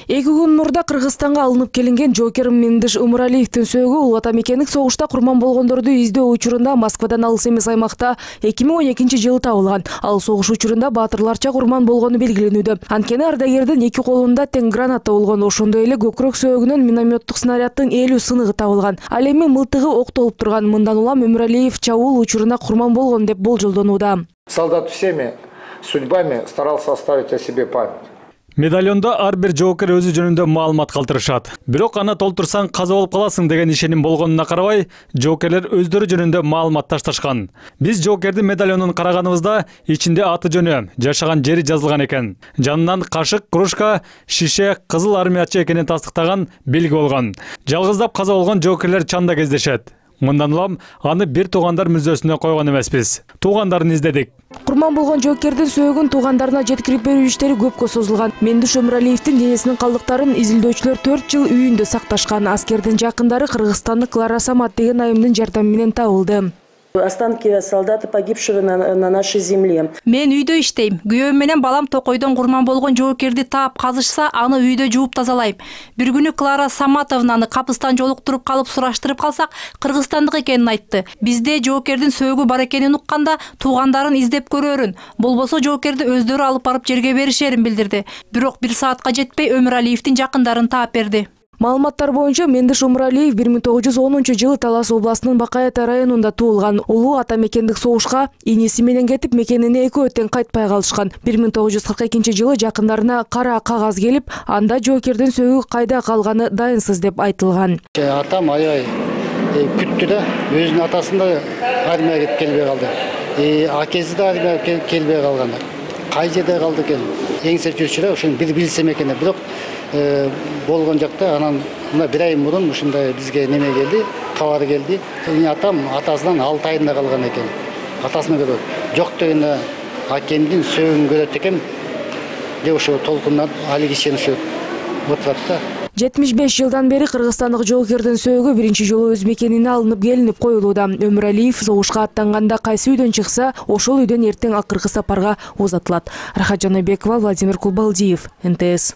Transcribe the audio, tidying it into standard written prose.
2 күн мурда Кыргызстанга алынып келинген Жокер Мендиш Умуралиевдин сөөгү улуу ата мекендик согушта курман болгондорду издөө учурунда Москвадан алыс эмес аймакта 2012 жылы табылган. Ал согуш учурунда баатырларча курман болгону белгиленүүдө. Анткени ардагердин 2 колунда тең граната болгон, ошондой эле көкүрөк сөөгүнөн минометтук снаряддын 50 сыныгы табылган. Ал эми мылтыгы октолуп турган. Мындан улам Умуралиев чабуул учуруна курман болгон деп болжолдонууда. Солдат всеми судьбами старался оставить о себе память. Медальонда ар бир жоокер өзү жөнүндө маалымат калтырышат. Бирок аны толтурсаң каза болуп каласың деген ишеним болгонуна карабай, жоокерлер өздөрү жөнүндө маалымат ташташкан. Биз жоокердин медальонун караганыбызда ичинде аты жөнү, жашаган жери жазылган экен. Жанынан кашык, кружка, шише, кызыл армиячы экенин тастыктаган белги болгон. Жалгыздап каза болгон жоокерлер чанда кездешет. Мындан улам аны бир туугандар мүзөсүнө койгон эмеспиз. Туугандарын издедик. Курман болгон жоокердин сөөгүн туугандарына жеткирип берүү иштери көпкө созулган. Мендиш Умуралиевдин денесинин калдыктарын изилдөөчүлөр 4 жыл үйүндө сакташкан. Аскердин жакындары кыргызстандык Клара Самат деген айымдын жардамы менен табылды. Останки солдата, погибшего на нашей земле. Мен үйдө иштейм. Күйөөм менен балам токойдон курман болгон жоокерди таап казышса, аны үйдө жууп тазалайм. Бир күнү Клара Саматовнаны капыстан жолуктуруп калып сураштырып калсак, кыргызстандык экенин айтты. Бизде жоокердин сөөгү бар экенин укканда, туугандарын издеп көрөрүн. Болбосо жоокерди өздөрү алып барып жерге беришерин билдирди. Бирок 1 саатка жетпей Умуралиевдин жакындарын таап берди. Маалыматтар боюнча Мендиш Умуралиев 1910 жылы Талас областынын Бакаята районунда туулган. Улуу ата мекендик согушка иниси менен кетип, мекенине экөө тең кайтпай калышкан. 1942 жылы жакындарына кара кагаз келип, анда жоокердин сөөгү кайда калганы дайынсыз деп айтылган. Атам аябай күттү да, өзүнүн атасын да армияга келбей калды. Акеси да армияга келбей калган. Кай жерде калды экен? Эңсеп жүрчү да, ошону бир билсем экен. Бирок болгон жакта анан мына 1 ай мурун ушундай бизге неме келди, кабар келди. Атам атасынан 6 айында калган экен. Атасына көрөт. Жок дегенде акемдин сөөгүн көрөт экен. Деп ошо толкундан али кишени ошо отурат да. 75 жылдан бери кыргызстандык жоокердин сөөгү биринчи жолу өз мекенине алынып келинип коюлууда. Умуралиев согушка аттанганда кайсы үйдөн чыкса, ошол үйдөн эртең акыркы сапарга узатылат. Рахат Жанайбекова, Владимир Кулбалдиев, НТС.